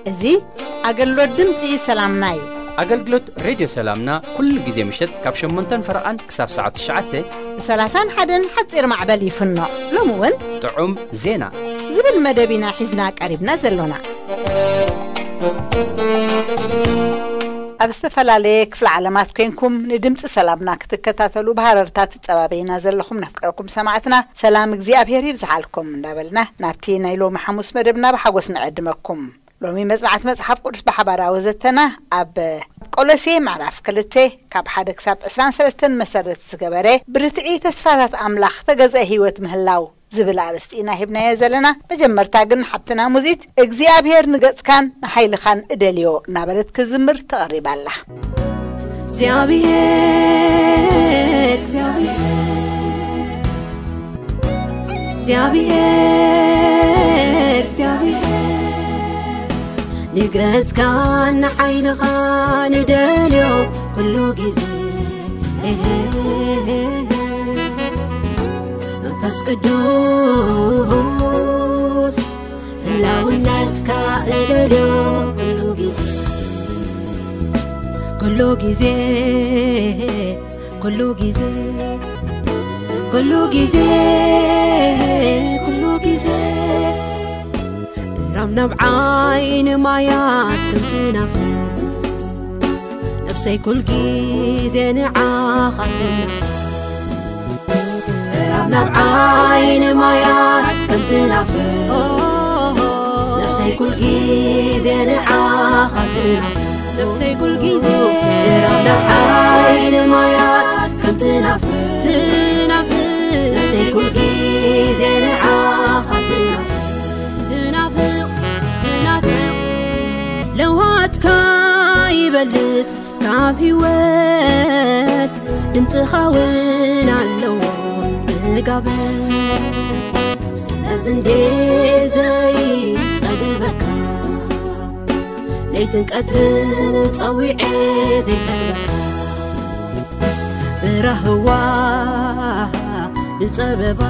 እዚ ኣገልግሎት ድምፂ ሰላምና እዩ። ኣገልግሎት ሬድዮ ሰላምና ኩሉ ግዜ ምሸት ካብ ሸሞንተን ፈረቓን ክሳብ ሰዓት ትሽዓተ ብ ሰላሳን ሓደን ሓፂር ማዕበል ይፍኖ። ሎሚ እውን ጥዑም ዜና ዝብል መደብ ኢና ሒዝና ቀሪብና ዘሎና። ኣብ ዝተፈላለየ ክፍለ ዓለማት ኮንኩም ንድምፂ ሰላምና ክትከታተሉ ብሃረርታ ትፀባበይና ዘለኹም ነፍቅረኩም ሰማዕትና ሰላም እግዚኣብሔር ይብዝሓልኩም እንዳበልና ናብቲ ናይ ሎሚ ሓሙስ መደብና ብሓጎስ ንዕድመኩም። ሎሚ መጽናዕቲ መጽሓፍ ቅዱስ ብሓባራዊ ዘተና ኣብ ቆሎሴ ምዕራፍ ክልተ ካብ ሓደ ክሳብ ዕስራን ሰለስተን መሰረት ዝገበረ ብርትዒ ተስፋታት ኣምላኽ ተገዝአ ህይወት ምህላው ዝብል ኣርእስቲ ኢና ሂብናዮ ዘለና። መጀመርታ ግን ሓብትና ሙዚት እግዚኣብሔር ንገጽካን ንሓይልኻን እደልዮ እናበለት ክዝምር ተቐሪባ ኣላ። እግዚኣብሔር እግዚኣብሔር እግዚኣብሔር እግዚኣብሔር ንገጽካን ንሓይልኻን እደልዮ ኩሉ ግዜ። መንፈስ ቅዱስ ህላውነትካ እደልዮ ኩሉ ግዜ። ኩሉ ግዜ ኩሉ ግዜ ኩሉ ግዜ ኩሉ ግዜ ራም ናብ ዓይኒ ማያት ከምትናፍር ነፍሰይ ኩል ግዜ ንዓኻ ትናፍር ራም ናብ ዓይኒ ማያት ከምትናፍር ነፍሰይ ኩል ግዜ ንዓኻ ትናፍር ነፍሰይ ኩል ግዜ ራም ናብ ዓይኒ ማያት ከምትናፍር ትናፍር ነፍሰይ ኩል ግዜ ንዓኻ ትናፍር ትናፍር ትናፍር ለውሃትካ ይበልጽ ካብ ህይወት ድምፅኻ እውን ኣለዎ መጋበት ስለዚ እንዴ ዘይፀግበካ ለይትን ቀትርን ጸዊዔ ዘይጸግበካ ብራህዋ ብጸበባ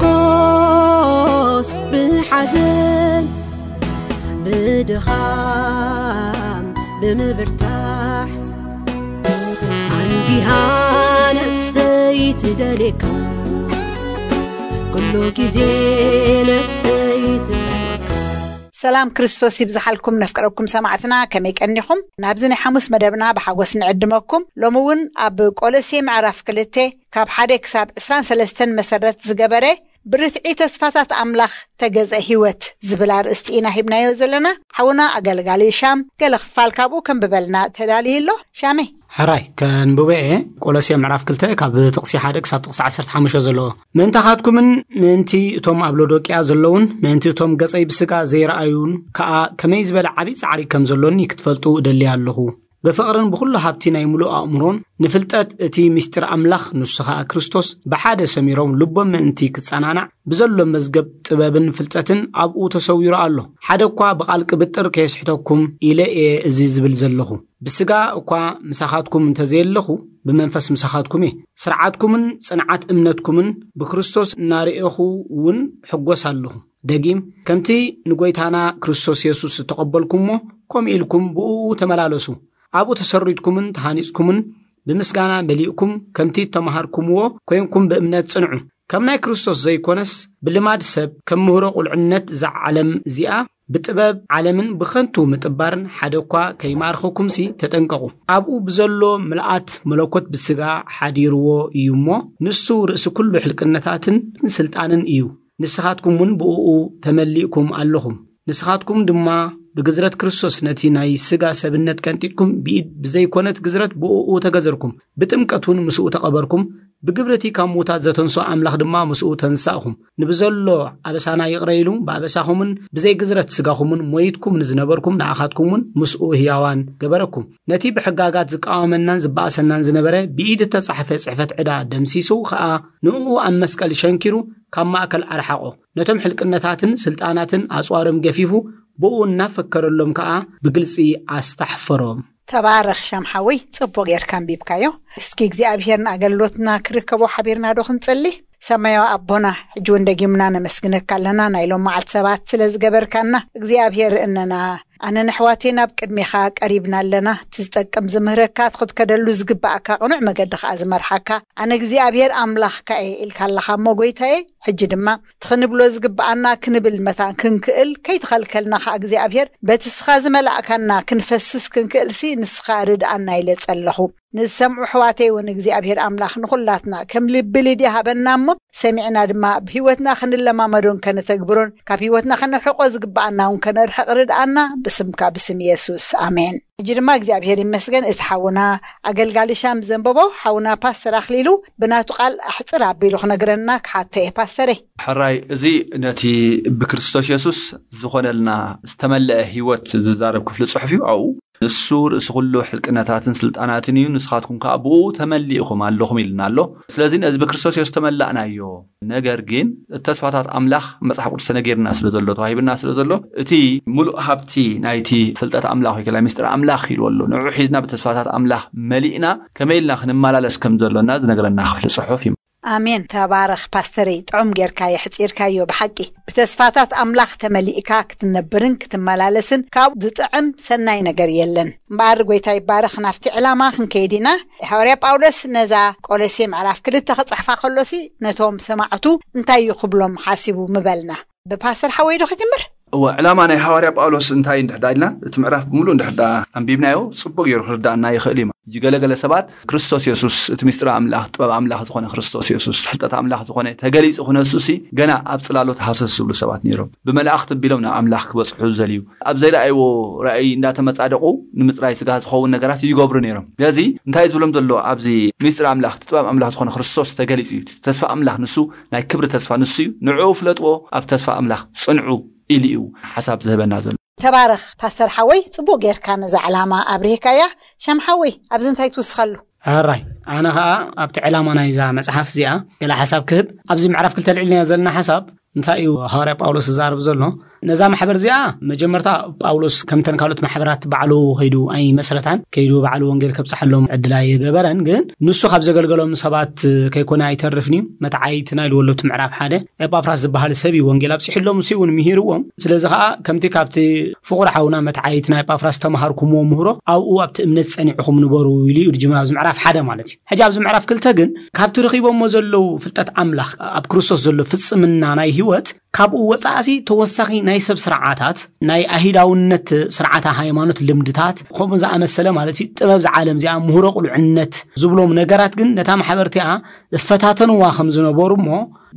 ብሓጎስ ብሓዘን ብድኻም ብምብርታሕ ኣንጊሃ ነፍሰይ ትደልየካ ኩሉ ግዜ ነፍሰይ ትጸልየካ ሰላም ክርስቶስ ይብዝሓልኩም ነፍቅረኩም ሰማዕትና ከመይ ቀኒኹም ናብዚ ናይ ሓሙስ መደብና ብሓጎስ ንዕድመኩም ሎሚ እውን ኣብ ቆሎሴ ምዕራፍ ክልተ ካብ ሓደ ክሳብ ዕስራን ሰለስተን መሰረት ዝገበረ ብርትዒ ተስፋታት ኣምላኽ ተገዘ ህይወት ዝብል ኣርእስቲ ኢና ሂብናዮ ዘለና ሓውና ኣገልጋሊ ሻም ገለ ክፋል ካብኡ ከንብበልና ተዳልዩ ኣሎ ሻመይ ሕራይ ከንብበ እየ ቆሎሴ ምዕራፍ ክልተ ካብ ጥቕሲ ሓደ ክሳብ ጥቕሲ ዓሰርተ ሓሙሽተ ዘለዎ ምእንታኻትኩምን ምእንቲ እቶም ኣብ ሎዶቅያ ዘለውን ምእንቲ እቶም ገጸይ ብስጋ ዘይረኣዩን ከኣ ከመይ ዝበለ ዓቢ ጻዕሪ ከም ዘሎኒ ክትፈልጡ እደሊ ኣለኹ ብፍቕርን ብኹሉ ሃብቲ ናይ ምሉእ ኣእምሮን ንፍልጠት እቲ ምስጢር ኣምላኽ ንሱ ኸኣ ክርስቶስ ብሓደ ሰሚሮም ልቦም ምእንቲ ክጸናናዕ ብዘሎ መዝገብ ጥበብን ፍልጠትን ኣብኡ ተሰዊሩ ኣሎ። ሓደ እኳ ብቓል ቅብጥር ከየስሕተኩም ኢለ እየ እዚ ዝብል ዘለኹ። ብስጋ እኳ ምሳኻትኩም እንተዘየለኹ ብመንፈስ ምሳኻትኩም እየ። ስርዓትኩምን ጽንዓት እምነትኩምን ብክርስቶስ እናርኤኹ እውን ሕጎስ ኣለኹ። ደጊም ከምቲ ንጎይታና ክርስቶስ የሱስ እተቐበልኩሞ ከምኡ ኢልኩም ብእኡ ተመላለሱ። ኣብኡ ተሰሪትኩምን ተሃኒጽኩምን ብምስጋና መሊእኩም ከምቲ እተማሃርኩምዎ ኮይንኩም ብእምነት ጽንዑ። ከም ናይ ክርስቶስ ዘይኮነስ ብልማድ ሰብ ከም ምህሮ ቁልዕነት እዛ ዓለም እዚኣ ብጥበብ ዓለምን ብኸንቱ ምጥባርን ሓደ እኳ ከይማርኸኩምሲ ተጠንቀቑ። ኣብኡ ብዘሎ ምልኣት መለኮት ብስጋ ሓዲርዎ እዩ እሞ ንሱ ርእሲ ኩሉ ሕልቅነታትን ስልጣንን እዩ። ንስኻትኩም እውን ብእኡ ተመሊእኩም ኣለኹም። ንስኻትኩም ድማ ብግዝረት ክርስቶስ ነቲ ናይ ስጋ ሰብነት ቀንጢጥኩም ብኢድ ብዘይኮነት ግዝረት ብእኡ ተገዘርኩም። ብጥምቀት እውን ምስኡ ተቐበርኩም። ብግብሪ እቲ ካብ ምዉታት ዘተንስኦ ኣምላኽ ድማ ምስኡ ተንሳእኹም። ንብዘሎ ኣበሳና ይቕረ ኢሉ፣ ብኣበሳኹምን ብዘይ ግዝረት ስጋኹምን ሞይትኩም ንዝነበርኩም ንኣኻትኩም እውን ምስኡ ህያዋን ገበረኩም። ነቲ ብሕጋጋት ዝቃወመናን ዝበኣሰናን ዝነበረ ብኢድ እተጻሕፈ ጽሕፈት ዕዳ ደምሲሱ ኸኣ ንእኡ ኣብ መስቀል ሸንኪሩ ካብ ማእከል ኣርሓቖ። ነቶም ሕልቅነታትን ስልጣናትን ኣጽዋሮም ገፊፉ ብኡ እናፈከረሎም ከኣ ብግልጺ ኣስታሕፈሮም። ተባረኽ ሻም ሓወይ፣ ጽቡቕ ጌርካ ኣንቢብካዮ። እስኪ እግዚኣብሔር ንኣገልግሎትና ክርከቦ ሓቢርና ዶ ክንጽሊ? ሰማያዊ ኣቦና፣ ሕጂ እውን ደጊምና ነመስግነካ ኣለና፣ ናይ ሎም መዓልቲ ሰባት ስለ ዝገበርካና እግዚኣብሔር እነና። ኣነ ንኣሕዋተይ ናብ ቅድሜኻ ቀሪብና ኣለና። እቲ ዝጠቅም ዝምህረካ፣ እቲ ክትከደሉ ዝግባኣካ ቅኑዕ መገዲ ከኣ ዝመርሓካ ኣነ እግዚኣብሔር ኣምላኽካ እየ ኢልካ ኣለኻ እሞ ጎይታየ፣ ሕጂ ድማ እቲ ክንብሎ ዝግባኣና ክንብል መታን ክንክእል ከይተኸልከልና ከኣ እግዚኣብሔር በቲ ንስኻ ዝመላእካና ክንፈስስ ክንክእልሲ ንስኻ ርድኣና ኢለ ጸለኹ። ንዝሰምዑ ኣሕዋተይ እውን እግዚኣብሔር ኣምላኽ ንኹላትና ከም ልቢ ልድያ ሃበና እሞ ሰሚዕና ድማ ኣብ ህይወትና ክንለማመዶን ከነተግብሮን ካብ ህይወትና ከነርሕቆ ዝግባኣና እውን ከነርሕቕ ርድኣና ብስምካ ብስም የሱስ ኣሜን። ሕጂ ድማ እግዚኣብሔር ይመስገን እቲ ሓውና ኣገልጋሊ ሻም ዘንበቦ ሓውና ፓስተር ኣኽሊሉ ብናቱ ቃል ኣሕፅር ኣቢሉ ክነግረና ክሓቶ እየ ፓስተረይ። ሕራይ እዚ ነቲ ብክርስቶስ የሱስ ዝኾነልና ዝተመለአ ህይወት ዝዛረብ ክፍሊ ጽሑፍ እዩ። ኣብኡ ንሱ ርእሲ ኩሉ ሕልቅነታትን ስልጣናትን እዩ፣ ንስኻትኩም ከኣ ብኡ ተመሊእኹም ኣለኹም ኢልና ኣሎ። ስለዚ ነዚ ብክርስቶስ የሱስ ዝተመላእናዮ ነገር ግን እቲ ተስፋታት ኣምላኽ መጽሓፍ ቅዱስ ተነጊርና ስለ ዘሎ ተዋሂብና ስለ ዘሎ እቲ ሙሉእ ሃብቲ ናይቲ ፍልጠት ኣምላኽ ወይ ከላ ምስጢር ኣምላኽ ኢልዎ ኣሎ። ንዑ ሒዝና ብተስፋታት ኣምላኽ መሊእና ከመይ ኢልና ክንመላለስ ከም ዘሎና ዝነግረና ክፍሊ ጽሑፍ እዩ። ኣሜን። ተባረኽ ፓስተረይ፣ ጥዑም ጌርካ የሕጺርካዮ ብሓቂ። ብተስፋታት ኣምላኽ ተመሊእካ ክትነብርን ክትመላለስን ካብ ዝጥዕም ሰናይ ነገር የለን። እምበኣር ጎይታ ይባረኽ። ናብቲ ዕላማ ክንከይድ ኢና። ሃዋርያ ጳውሎስ ነዛ ቆሎሴ ምዕራፍ ክልተ ክጽሕፋ ከሎሲ ነቶም ሰማዕቱ እንታይ እዩ ክብሎም ሓሲቡ ምበልና? ብፓስተር ሓወይ ዶ ክጅምር? እወ፣ ዕላማ ናይ ሃዋርያ ጳውሎስ እንታይ እንድሕዳ ኢልና እቲ ምዕራፍ ብምሉእ እንድሕዳ ኣንቢብናዮ ጽቡቅ ገይሩ ክርዳእና ይኽእል እዩ። ሕጂ ገለገለ ሰባት ክርስቶስ የሱስ እቲ ምስጢር ኣምላኽ ጥበብ ኣምላኽ ዝኾነ ክርስቶስ የሱስ ፍልጠት ኣምላኽ ዝኾነ ተገሊጹ ክነሱሲ ገና ኣብ ጽላሎት ሃሰስ ዝብሉ ሰባት ነይሮም። ብመላእኽቲ ኣቢሎም ናብ ኣምላኽ ክበጽሑ ዝደልዩ ኣብ ዘይረኣይዎ ራእይ እንዳተመጻደቑ ንምጽራይ ስጋ ዝኸውን ነገራት ይገብሩ ነይሮም። ስለዚ እንታይ እዩ ዝብሎም ዘሎ ኣብዚ ምስጢር ኣምላኽ እቲ ጥበብ ኣምላኽ ዝኾነ ክርስቶስ ተገሊጹ እዩ። ተስፋ ኣምላኽ ንሱ ናይ ክብሪ ተስፋ ንሱ እዩ። ንዕኡ ፍለጥዎ፣ ኣብ ተስፋ ኣምላኽ ጽንዑ ኢሉ እዩ ሓሳብ ዝህበና ዘሎ። ተባረኽ ፓስተር ሓወይ፣ ጽቡቕ ጌርካ ነዛ ዕላማ ኣብሪህካያ። ሻም ሓወይ፣ ኣብዚ እንታይ ትውስኸሉ? ሕራይ፣ ኣነ ኸኣ ኣብቲ ዕላማ ናይዛ መጽሓፍ እዚኣ ገለ ሓሳብ ክህብ። ኣብዚ ምዕራፍ ክልተ ልዕልና ዘለና ሓሳብ እንታይ እዩ ሃዋርያ ጳውሎስ ዝዛረብ ዘሎ? ነዛ ማሕበር እዚኣ መጀመርታ ጳውሎስ ከምተን ካልኦት ማሕበራት ባዕሉ ከይዱ ኣይመስረታን፣ ከይዱ ባዕሉ ወንጌል ከብጽሓሎም ዕድል ኣይገበረን። ግን ንሱ ካብ ዘገልገሎም ሰባት ከይኮነ ኣይተርፍን እዩ። መትዓይትና ኢልዎ ኣሎ እቲ ምዕራፍ ሓደ። ኤጳፍራስ ዝበሃል ሰብ እዩ ወንጌል ኣብጺሕሎም፣ ንሱ እውን ምሂርዎም። ስለዚ ኸኣ ከምቲ ካብቲ ፍቑር ሓውና መትዓይትና ኤጳፍራስ ተማሃርኩምዎ ምህሮ ኣብኡ ኣብቲ እምነት ጸኒዕኹም ንበሩ ኢሉ እዩ ዝጅምር ኣብዚ ምዕራፍ ሓደ ማለት እዩ። ሕጂ ኣብዚ ምዕራፍ ክልተ ግን ካብቲ ረኺቦሞ ዘለዉ ፍልጠት ኣምላኽ ኣብ ክርስቶስ ዘሎ ፍጽምና ናይ ህይወት ካብኡ ወጻእሲ ተወሳኺ ናይ ሰብ ስርዓታት ናይ ኣሂዳውነት ስርዓተ ሃይማኖት ልምድታት ከምኡ ዝኣመሰለ ማለት እዩ ጥበብ ዝዓለም እዚኣ ምህሮ ቁልዕነት ዝብሎም ነገራት ግን ነታ ማሕበርቲኣ እፈታተንዋ ከም ዝነበሩ እሞ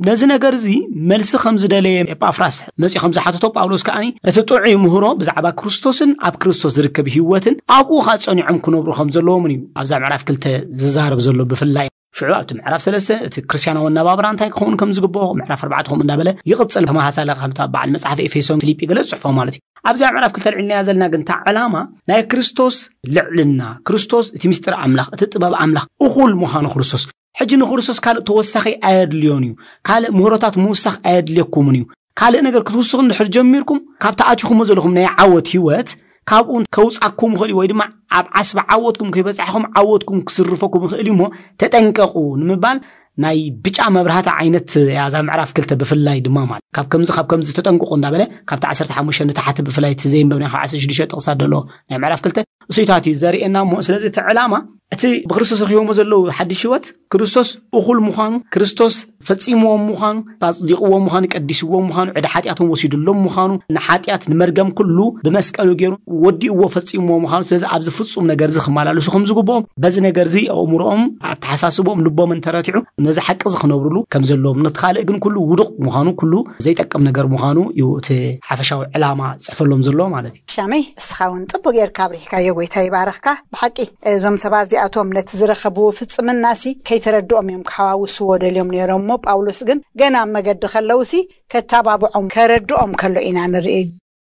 ነዚ ነገር እዚ መልሲ ከም ዝደለየ ኤጳፍራስ መጺኡ ከም ዝሓተቶ ጳውሎስ ከኣኒ እቲ ጥዑይ ምህሮ ብዛዕባ ክርስቶስን ኣብ ክርስቶስ ዝርከብ ህይወትን ኣብኡ ኸኣ ጸኒዖም ክነብሩ ከም ዘለዎምን እዩ ኣብዛ ምዕራፍ ክልተ ዝዛረብ ዘሎ ብፍላይ ሽዑ ኣብቲ ምዕራፍ ሰለስተ እቲ ክርስትያናዊ ኣነባብራ እንታይ ክኸውን ከም ዝግብኦ ምዕራፍ ኣርባዕተ ከምኡ እንዳበለ ይቕጽል። ተመሳሳሊ ከምታ በዓል መጽሓፍ ኤፌሶን ፊልጲ ገለ ዝጽሕፎ ማለት እዩ። ኣብዚኣ ምዕራፍ ክልተ ልዕልናያ ዘለና ግን እታ ዕላማ ናይ ክርስቶስ ልዕልና ክርስቶስ እቲ ምስጢር ኣምላኽ እቲ ጥበብ ኣምላኽ እኹል ምዃኑ ክርስቶስ ሕጂ ንክርስቶስ ካልእ ተወሳኺ ኣየድልዮን እዩ። ካልእ ምህሮታት ምውሳኽ ኣየድልየኩምን እዩ። ካልእ ነገር ክትውስኹ እንድሕር ጀሚርኩም ካብቲ ኣቲኹሞ ዘለኹም ናይ ዓወት ህይወት ካብኡ ከውጻኩም ይኽእል እዩ ወይ ድማ ኣብ ዓስቢ ዓወትኩም ከይበጻሕኹም ዓወትኩም ክስርፈኩም ይኽእል እዩ እሞ ተጠንቀቑ ንምባል ናይ ብጫ መብራህቲ ዓይነት እያ እዛ ምዕራፍ ክልተ ብፍላይ ድማ ማለት ካብ ከምዚ ካብ ከምዚ ተጠንቅቑ እንዳበለ ካብቲ ዓሰርተ ሓሙሽተ ንታሕቲ ብፍላይ እቲ ዘየንበብና ካብ ዓሰርተ ሽዱሽተ ጥቕሳት ዘሎ ናይ ምዕራፍ ክልተ እሱይታት እዩ ዘርእየና እሞ ስለዚ እቲ ዕላማ እቲ ብክርስቶስ ረኪቦሞ ዘለዉ ሓድሽ ህይወት ክርስቶስ እኹል ምዃኑ ክርስቶስ ፈጺምዎም ምዃኑ ኣጽዲቕዎም ምዃኑ ቀዲስዎም ምዃኑ ዕዳ ሓጢኣቶም ወሲዱሎም ምዃኑ ንሓጢኣት ንመርገም ኩሉ ብመስቀሉ ገይሩ ወዲእዎ ፈጺምዎ ምዃኑ ስለዚ ኣብዚ ፍጹም ነገር እዚ ክመላለሱ ከም ዝግብኦም በዚ ነገር እዚ ኣእምሮኦም ኣተሓሳስቦም ልቦምን ተረቲዑ ነዚ ሓቂ እዚ ክነብርሉ ከም ዘለዎም ነቲ ካልእ ግን ኩሉ ውዱቕ ምዃኑ ኩሉ ዘይጠቅም ነገር ምዃኑ እዩ እቲ ሓፈሻዊ ዕላማ ዝፅሕፈሎም ዘሎ ማለት እዩ። ሻመይ እስኻ እውን ፅቡቅ ጌርካ ኣብሪህካዮ። ጎይታ ይባረኽካ። ብሓቂ እዞም ሰባት እዚኣቶም ነቲ ዝረኸብዎ ፍጽምናሲ ከይተረድኦም እዮም ክሓዋውስዎ ደልዮም ነይሮም፣ እሞ ጳውሎስ ግን ገና ኣብ መገዲ ከለውሲ ከታባብዖም ከረድኦም ከሎ ኢና ንርኢ።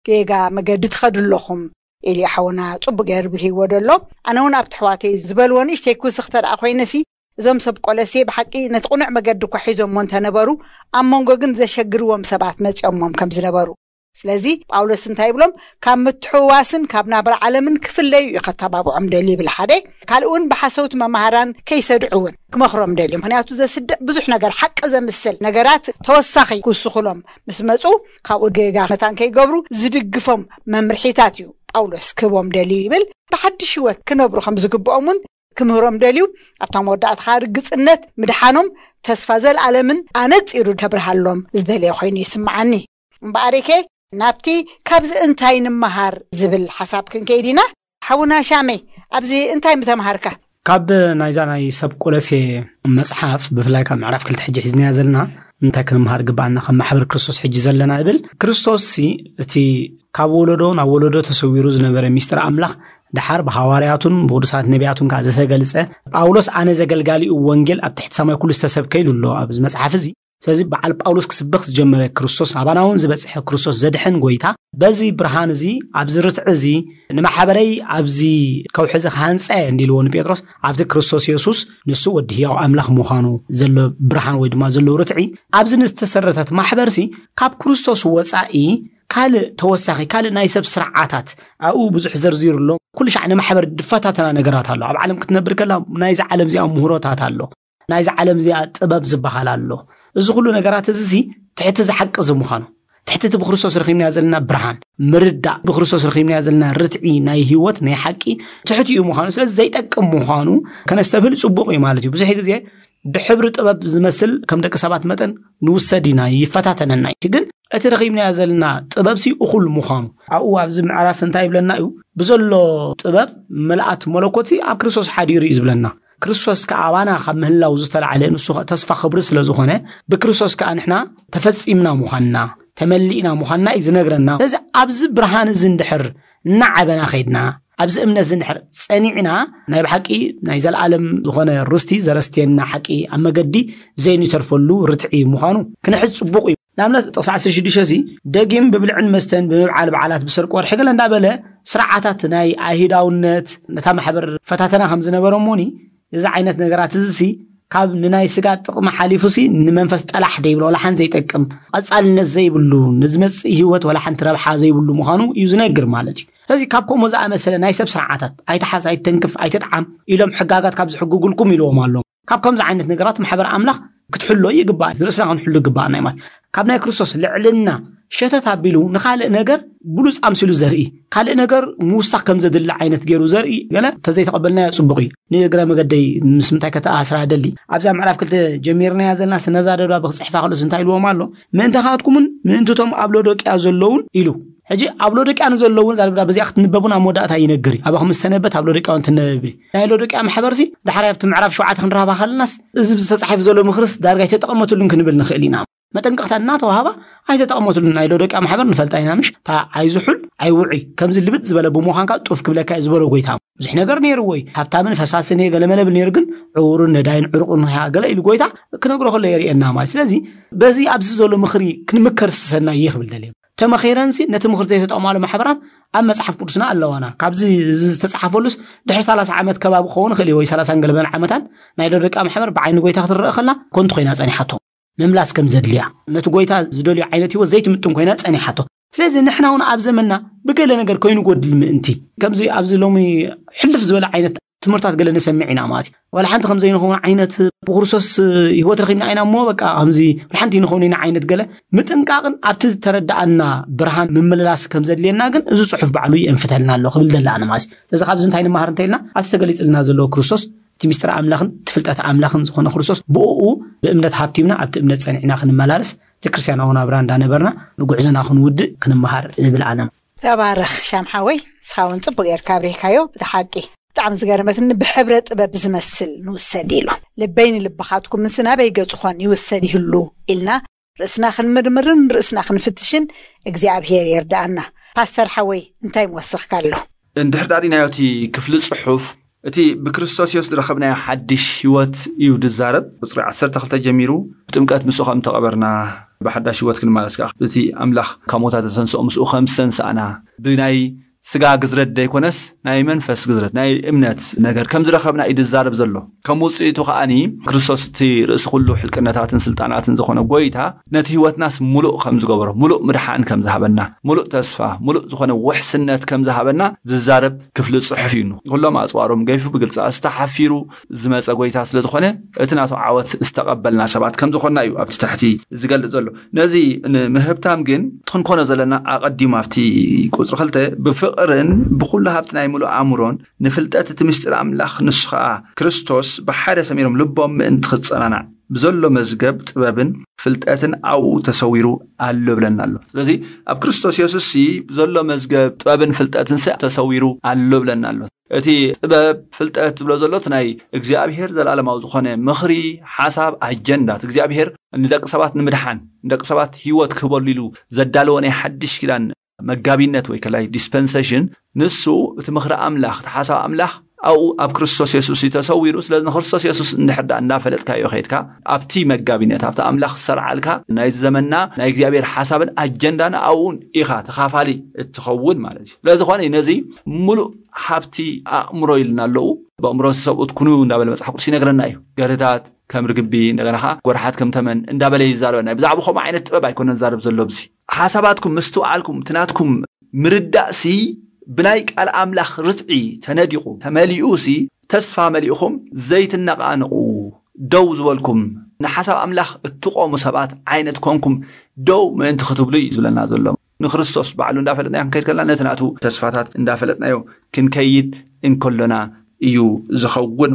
ጌጋ መገዲ ትኸዱ ኣለኹም ኢሉ ሓውና ጽቡቅ ገይሩ ብርሂዎ ደሎ። ኣነ እውን ኣብቲ ኣሕዋተይ ዝበልዎ ንእሽተይ ክውስኽ ተደኣ ኮይነሲ፣ እዞም ሰብ ቆለሴ ብሓቂ ነቲ ቅኑዕ መገዲ እኳ ሒዞሞ እንተነበሩ፣ ኣብ መንጎ ግን ዘሸግርዎም ሰባት መጺኦሞም ከም ዝነበሩ። ስለዚ ጳውሎስ እንታይ ይብሎም? ካብ ምትሕውዋስን ካብ ናብራ ዓለምን ክፍለዩ እዩ ከተባብዖም ደልዩ ይብል ሓደ። ካልእ እውን ብሓሰውቲ መማህራን ከይሰድዑ እውን ክመኽሮም ደልዩ። ምኽንያቱ ዘስድዕ ብዙሕ ነገር፣ ሓቂ ዘምስል ነገራት ተወሳኺ ክውስኹሎም ምስ መጹ፣ ካብኡ ጌጋ መታን ከይገብሩ ዝድግፎም መምርሒታት እዩ ጳውሎስ ክህቦም ደልዩ ይብል። ብሓድሽ ህይወት ክነብሩ ከም ዝግብኦም እውን ክምህሮም ደልዩ። ኣብታ መወዳእታ ርግጽነት ምድሓኖም ተስፋ ዘልኣለምን ኣነጺሩ ከብርሃሎም ዝደልየ ኮይኑ ይስምዓኒ። እምበኣርከ ናብቲ ካብዚ እንታይ ንምሃር ዝብል ሓሳብ ክንከይድ ኢና። ሓውና ሻመይ፣ ኣብዚ እንታይ ምተምሃርካ? ካብ ናይዛ ናይ ሰብ ቆለሴ መጽሓፍ፣ ብፍላይ ካብ ምዕራፍ ክልተ ሕጂ ሒዝናያ ዘለና፣ እንታይ ክንምሃር ግባኣና ከም ማሕበር ክርስቶስ ሕጂ ዘለና እብል? ክርስቶስ ሲ እቲ ካብ ወለዶ ናብ ወለዶ ተሰዊሩ ዝነበረ ሚስጥር ኣምላኽ፣ ደሓር ብሃዋርያቱን ብቅዱሳት ነቢያቱን ከኣ ዝተገልጸ፣ ጳውሎስ ኣነ ዘገልጋሊኡ ወንጌል ኣብ ትሕቲ ሰማይ ኩሉ ዝተሰብከ ኢሉ ኣሎ ኣብዚ መጽሓፍ እዚ። ስለዚ በዓል ጳውሎስ ክስበኽ ዝጀመረ ክርስቶስ፣ ኣባና እውን ዝበጽሐ ክርስቶስ ዘድሕን ጎይታ፣ በዚ ብርሃን እዚ፣ ኣብዚ ርትዒ እዚ፣ ንማሕበረይ ኣብዚ ከውሒ እዚ ክሃንጸ እንዲልዎ ንጴጥሮስ፣ ኣብቲ ክርስቶስ የሱስ ንሱ ወዲ ህያው ኣምላኽ ምዃኑ ዘሎ ብርሃን ወይ ድማ ዘሎ ርትዒ፣ ኣብዚ ንዝተሰረተት ማሕበርሲ ካብ ክርስቶስ ወጻኢ ካልእ ተወሳኺ፣ ካልእ ናይ ሰብ ስርዓታት ኣብኡ ብዙሕ ዘርዚሩ ኣሎ። ኩሉ ሻዕ ንማሕበር ዝፈታተና ነገራት ኣሎ። ኣብ ዓለም ክትነብር ከላ ናይዚ ዓለም እዚኣ ምሁሮታት ኣሎ። ናይዚ ዓለም እዚኣ ጥበብ ዝበሃል ኣሎ። እዚ ኩሉ ነገራት እዚ ሲ ትሕቲ እዚ ሓቂ እዚ ምዃኑ፣ ትሕቲ እቲ ብክርስቶስ ረኺብናዮ ዘለና ብርሃን ምርዳእ፣ ብክርስቶስ ረኺብናዮ ዘለና ርትዒ ናይ ህይወት ናይ ሓቂ ትሕቲ እዩ ምዃኑ፣ ስለዚ ዘይጠቅም ምዃኑ ከነስተብህል ጽቡቕ እዩ ማለት እዩ። ብዙሕ ግዜ ብሕብሪ ጥበብ ዝመስል ከም ደቂ ሰባት መጠን ንውሰድ ኢና፣ ይፈታተነና እዩ። ግን እቲ ረኺብናዮ ዘለና ጥበብ ሲ እኹል ምዃኑ፣ ኣብኡ ኣብዚ ምዕራፍ እንታይ ይብለና እዩ? ብዘሎ ጥበብ ምልኣት መለኮት ሲ ኣብ ክርስቶስ ሓዲሩ እዩ ዝብለና። ክርስቶስ ከኣ ኣባና ካብ ምህላው ዝተላዕለ ንሱ ኸ ተስፋ ክብሪ ስለ ዝኾነ፣ ብክርስቶስ ከኣ ንሕና ተፈጺምና ምዃንና፣ ተመሊእና ምዃንና እዩ ዝነግረና። ስለዚ ኣብዚ ብርሃን እዚ እንድሕር እናዓበና ኸይድና፣ ኣብዚ እምነት እዚ እንድሕር ጸኒዕና፣ ናይ ብሓቂ ናይ ዘለኣለም ዝኾነ ርስቲ ዘረስትየና ሓቂ ኣብ መገዲ ዘይንተርፈሉ ርትዒ ምዃኑ ክንሕዝ ጽቡቕ እዩ። ንኣብነት ጥቕሲ ዓሰርተ ሽዱሽተ እዚ ደጊም ብብልዕን መስተን ብምብዓል በዓላት ብሰርቂ ወርሒ ገለ እንዳበለ ስርዓታት ናይ ኣይሁዳውነት ነታ ማሕበር ፈታተና ከም ዝነበረ እሞኒ፣ እዚ ዓይነት ነገራት እዚ ሲ ካብ ንናይ ስጋ ጥቕሚ ሓሊፉ ሲ ንመንፈስ ጠላሕ ዘይብሎ፣ ወላ ሓንቲ ዘይጠቅም፣ ቀጻልነት ዘይብሉ፣ ንዝመጽእ ህይወት ወላ ሓንቲ ረብሓ ዘይብሉ ምዃኑ እዩ ዝነግር ማለት እዩ። ስለዚ ካብ ከምኡ ዝኣመሰለ ናይ ሰብ ስርዓታት፣ ኣይትሓዝ፣ ኣይትተንክፍ፣ ኣይትጥዓም ኢሎም ሕጋጋት ካብ ዝሕግጉልኩም ኢልዎም ኣሎ። ካብ ከምዚ ዓይነት ነገራት ማሕበር ኣምላኽ ክትሕሎ ይግባእ፣ ርእስና ክንሕሉ ይግባኣና እዩ ማለት። ካብ ናይ ክርስቶስ ልዕልና ሸተት ኣቢሉ ንኻልእ ነገር ብሉጽ ኣምሲሉ ዘርኢ፣ ካልእ ነገር ምውሳኽ ከም ዘድሊ ዓይነት ገይሩ ዘርኢ ገለ እንተዘይተቐበልናዮ ጽቡቕ እዩ። ንእግረ መገደይ ምስ ምንታይ ከተኣሳስራ ደሊ፣ ኣብዛ ምዕራፍ ክልተ ጀሚርናያ ዘለና ስነዛ ደብዳብ ክጽሕፋ ከሎስ እንታይ ኢልዎም ኣሎ? ምእንታኻትኩምን ምእንትቶም ኣብ ሎዶቅያ ዘለውን ኢሉ። ሕጂ ኣብ ሎዶቅያ ንዘለውን እዛ ደብዳብ እዚኣ ክትንበቡን ኣብ መወዳእታ ይነግር እዩ። ኣባኹም ዝተነበበት ኣብ ሎዶቅያ እውን ትነበብ እዩ። ናይ ሎዶቅያ ማሕበርሲ ዳሕራይ ኣብቲ ምዕራፍ ሸውዓተ ክንረኸባ ከለናስ፣ እዚ ዝተጻሒፉ ዘሎ ምኽርስ ዳርጋ ኣይተጠቐመትሉን ክንብል ንኽእል ኢና። መጠንቀቕታ እናተዋህባ ኣይተጠቐመትሉን። ናይ ሎዶቅያ ማሕበር ንፈልጣ ኢና፣ ምሽ? እታ ኣይዝሑል ኣይውዑይ፣ ከምዚ ልብጥ ዝበለ ብምዃንካ ጡፍ ክብለካ እዩ ዝበሎ ጎይታ። ብዙሕ ነገር ነይርዎ እዩ። ሃብታምን ፈሳስን እየ ገለ መለ ብል ነይሩ፣ ግን ዕውሩን ነዳይን ዕሩቕን ኢኻ ገለ ኢሉ ጎይታ ክነግሮ ከሎ የርእየና ማለት። ስለዚ በዚ ኣብዚ ዘሎ ምኽሪ ክንምከር ዝሰናይ እየ ክብል ደልየ። ተመኺረንሲ ነቲ ምኽሪ ዘይተጠቕማሉ ማሕበራት ኣብ መጽሓፍ ቅዱስና ኣለዋና። ካብዚ እዚ ዝተጻሓፈሉስ ድሕሪ ሰላሳ ዓመት ከባቢ ክኸውን ይኽእል እዩ፣ ወይ ሰላሳን ገለበን ዓመታት ናይ ሎዶቅያ ማሕበር ብዓይኒ ጎይታ ክትረአ ከላ ኮንቱ ኮይና ጸኒሓቶ። ምምላስ ከም ዘድልያ፣ ነቲ ጎይታ ዝደልዮ ዓይነት ህይወት ዘይትምጥን ኮይና ጸኒሓቶ። ስለዚ ንሕና እውን ኣብ ዘመንና ብገለ ነገር ከይንጎድል ምእንቲ፣ ከምዚ ኣብዚ ሎሚ ሕልፍ ዝበለ ዓይነት ትምህርታት ገለ ንሰምዕ ኢና ማለት እዩ። ዋላ ሓንቲ ከም ዘይንኸውን ዓይነት፣ ብክርስቶስ ህይወት ረኺብና ኢና እሞ በቃ ከምዚ ዋላ ሓንቲ ንኸውን ኢና ዓይነት ገለ ምጥንቃቕን ኣብቲ ዝተረዳኣና ብርሃን ምምልላስ ከም ዘድልየና ግን እዚ ጽሑፍ ባዕሉ የንፍተልና ኣሎ ክብል ደላኣነ ማለት እዩ። ስለዚ ካብዚ እንታይ ንመሃር እንተኢልና፣ ኣብቲ ተገሊጽልና ዘለዎ ክርስቶስ፣ እቲ ሚስጥር ኣምላኽን እቲ ፍልጠት ኣምላኽን ዝኾነ ክርስቶስ፣ ብእኡ ብእምነት ሃብቲምና ኣብቲ እምነት ጸኒዕና ክንመላለስ፣ እቲ ክርስትያናዊ ናብራ እንዳነበርና ንጉዕዞና ክንውድእ ክንመሃር እብል ኣነ። ተባረኽ ሻም ሓወይ፣ ንስኻ እውን ጽቡቕ ጌርካ ኣብሪህካዮ። ብሓቂ ብጣዕሚ ዝገርመትኒ፣ ብሕብረ ጥበብ ዝመስል ንውሰድ ኢሉ። ልበይ ንልብኻትኩም ምስ ናበይ ገጹ ኾን ይውሰድ ይህሉ ኢልና ርእስና ክንምርምርን ርእስና ክንፍትሽን እግዚኣብሔር የርድኣና። ፓስተር ሓወይ፣ እንታይ ምወሰኽካ ኣሎ? እንድሕር ዳሪናዮ እቲ ክፍሊ ጽሑፍ፣ እቲ ብክርስቶስ የሱስ ዝረኸብናዮ ሓድሽ ህይወት እዩ ዝዛረብ። ቁጽሪ ዓሰርተ ክልተ ጀሚሩ፣ ብጥምቀት ምስኡ ከም ተቐበርና ብሓዳሽ ህይወት ክንመላለስ ከኣ፣ እቲ ኣምላኽ ካብ ሞታት ዘተንስኦ ምስኡ ከም ዝተንስኣና፣ ብናይ ስጋ ግዝረት ዘይኮነስ ናይ መንፈስ ግዝረት፣ ናይ እምነት ነገር ከም ዝረኸብና እዩ ዝዛረብ ዘሎ። ከም ውጽኢቱ ከኣኒ፣ ክርስቶስ እቲ ርእሲ ኩሉ ሕልቅነታትን ስልጣናትን ዝኾነ ጎይታ፣ ነቲ ህይወትናስ ሙሉእ ከም ዝገበሮ፣ ሙሉእ ምድሓን ከም ዝሃበና፣ ሙሉእ ተስፋ፣ ሙሉእ ዝኾነ ውሕስነት ከም ዝሃበና ዝዛረብ ክፍሊ ጽሑፍ እዩ። ኩሎም ኣጽዋሮም ገይፉ ብግልጺ ኣስተሓፊሩ ዝመጸ ጎይታ ስለ ዝኾነ፣ እቲ ናቱ ዓወት ዝተቐበልና ሰባት ከም ዝኾንና እዩ ኣብቲ ታሕቲ ዝገልጽ ዘሎ። ነዚ ንምህብታም ግን ክንኮኖ ዘለና ኣቐዲሙ ኣብቲ ቁጽሪ ክልተ፣ ብፍቕርን ብኹሉ ሃብቲ ናይ ምሉእ ኣእምሮን ንፍልጠት እቲ ምስጢር ኣምላኽ፣ ንሱ ኸኣ ክርስቶስ፣ ብሓደ ሰሚሮም ልቦም ምእንቲ ክጸናናዕ ብዘሎ መዝገብ ጥበብን ፍልጠትን ኣብኡ ተሰዊሩ ኣሎ ብለና ኣሎ። ስለዚ ኣብ ክርስቶስ የሱስ ሲ ብዘሎ መዝገብ ጥበብን ፍልጠትን ሲ ተሰዊሩ ኣሎ ብለና ኣሎ። እቲ ጥበብ ፍልጠት ዝብሎ ዘሎ እቲ ናይ እግዚኣብሔር ዘላለማዊ ዝኾነ ምኽሪ፣ ሓሳብ፣ ኣጀንዳ፣ እቲ እግዚኣብሔር ንደቂ ሰባት ንምድሓን፣ ንደቂ ሰባት ህይወት ክህበሉ ኢሉ ዘዳለወ ናይ ሓድሽ ኪዳን መጋቢነት ወይ ከላይ ዲስፐንሴሽን፣ ንሱ እቲ ምኽሪ ኣምላኽ፣ እቲ ሓሳብ ኣምላኽ ኣብኡ ኣብ ክርስቶስ የሱስ እዩ ተሰዊሩ። ስለዚ ንክርስቶስ የሱስ እንድሕር ደኣ እንዳፈለጥካዮ ኸይድካ፣ ኣብቲ መጋቢነት፣ ኣብቲ ኣምላኽ ዝሰርዓልካ ናይ ዘመንና ናይ እግዚኣብሔር ሓሳብን ኣጀንዳን ኣብኡ ኢኻ ተኻፋሊ እትኸውን ማለት እዩ። ስለዚ ዝኾነ እዩ ነዚ ምሉእ ሃብቲ ኣእምሮ ኢልና ኣለዉ። ብኣእምሮ ሰብኡት ኩኑ እንዳበለ መጽሓፍ ቅዱስ ይነግረና እዩ። ገርህታት ከም ርግቢ፣ እንደገና ኸዓ ጎርሓት ከም ተመን እንዳበለ ይዛረበና እዩ። ብዛዕባ ከምኡ ዓይነት ጥበብ ኣይኮነን ዛረብ ዘሎ። ብዚ ሓሳባትኩም ምስትውዓልኩም፣ እቲ ናትኩም ምርዳእሲ ብናይ ቃል ኣምላኽ ርትዒ ተነዲቑ ተመሊኡሲ፣ ተስፋ መሊእኹም ዘይትነቓነቑ፣ ደው ዝበልኩም፣ ንሓሳብ ኣምላኽ እትቆሙ ሰባት ዓይነት ኮንኩም ደው ምእንቲ ክትብሉ እዩ ዝብለና ዘሎ። ንክርስቶስ ባዕሉ እንዳፈለጥናዮ ክንከይድ ከለና፣ ነቲ ናቱ ተስፋታት እንዳፈለጥናዮ ክንከይድ እንከሎና እዩ ዝኸውን።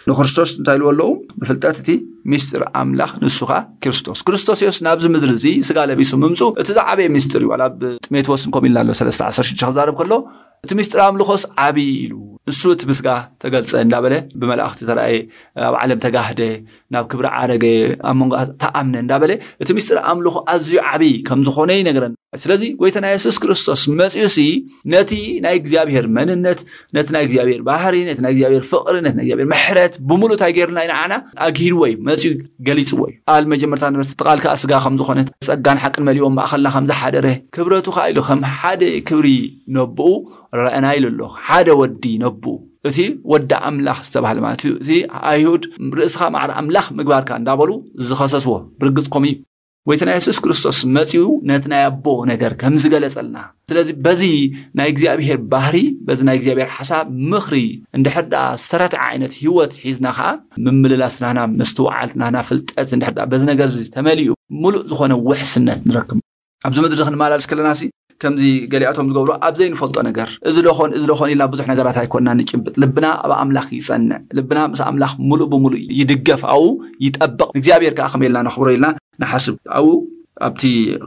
ንክርስቶስ እንታይ ኢልዎ ኣለዉ? ብፍልጠት እቲ ሚስጢር ኣምላኽ፣ ንሱ ኸኣ ክርስቶስ። ክርስቶስ ኢየሱስ ናብዚ ምድሪ እዚ ስጋ ለቢሱ ምምጹ እቲ ዝዓበየ ሚስጢር እዩ። ዋላ ኣብ ጢሞቴዎስ ከምኡ ኢልና ኣሎ፣ ሰለስተ ዓሰርተ ሽዱሽተ ክዛረብ ከሎ፣ እቲ ሚስጢር ኣምልኾስ ዓብዪ ኢሉ፣ ንሱ እቲ ብስጋ ተገልጸ እንዳበለ፣ ብመላእኽቲ ተራእየ፣ ኣብ ዓለም ተጋህደ፣ ናብ ክብሪ ዓረገ፣ ኣብ መንጎ ተኣምነ እንዳበለ፣ እቲ ሚስጢር ኣምልኾ ኣዝዩ ዓብዪ ከም ዝኾነ ይነግረና። ስለዚ ጎይታና የሱስ ክርስቶስ መጺኡሲ ነቲ ናይ እግዚኣብሔር መንነት፣ ነቲ ናይ እግዚኣብሔር ባህሪ፣ ነቲ ናይ እግዚኣብሔር ፍቕሪ፣ ነቲ ናይ እግዚኣብሔር ምሕረት ብምሉእ እንታይ ገይሩና ኢና ንዓና ኣግሂድዎ እዩ፣ መጺኡ ገሊጽዎ እዩ። ኣብ መጀመርታ ነበርስ እቲ ቃል ከኣ ስጋ ከም ዝኾነ፣ ጸጋን ሓቅን መሊኡ ኣብ ማእኸልና ከም ዝሓደረ፣ ክብረቱ ከኣ ኢሉ ከም ሓደ ክብሪ ነብኡ ረኣና ኢሉ ኣሎ። ሓደ ወዲ ነብኡ፣ እቲ ወዲ ኣምላኽ ዝተባህለ ማለት እዩ። እቲ ኣይሁድ ርእስኻ ማዕረ ኣምላኽ ምግባርካ እንዳበሉ ዝኸሰስዎ፣ ብርግጽ ከምኡ እዩ። ጎይታና የሱስ ክርስቶስ መጺኡ ነቲ ናይ ኣቦ ነገር ከም ዝገለጸልና። ስለዚ በዚ ናይ እግዚኣብሔር ባህሪ፣ በዚ ናይ እግዚኣብሔር ሓሳብ ምኽሪ እንድሕር ደኣ ዝተረትዐ ዓይነት ህይወት ሒዝና ኸኣ፣ ምምልላስ ናህና፣ ምስትውዓል ናህና፣ ፍልጠት እንድሕር ደኣ በዚ ነገር እዚ ተመሊኡ፣ ምሉእ ዝኾነ ውሕስነት ንረክብ። ኣብዚ ምድሪ ክንመላለስ ከለናሲ፣ ከምዚ ገሊኣቶም ዝገብሩ ኣብ ዘይንፈልጦ ነገር፣ እዚ ዶ ኾን፣ እዚ ዶ ኾን ኢልና ብዙሕ ነገራት ኣይኮንና ንጭብጥ። ልብና ኣብ ኣምላኽ ይጸንዕ። ልብና ምስ ኣምላኽ ምሉእ ብምሉእ ይድገፍ፣ ኣብኡ ይጠብቕ። እግዚኣብሔር ከኣ ከመይ ኢልና ነኽብሮ ኢልና ንሓስብ። ኣብኡ ኣብቲ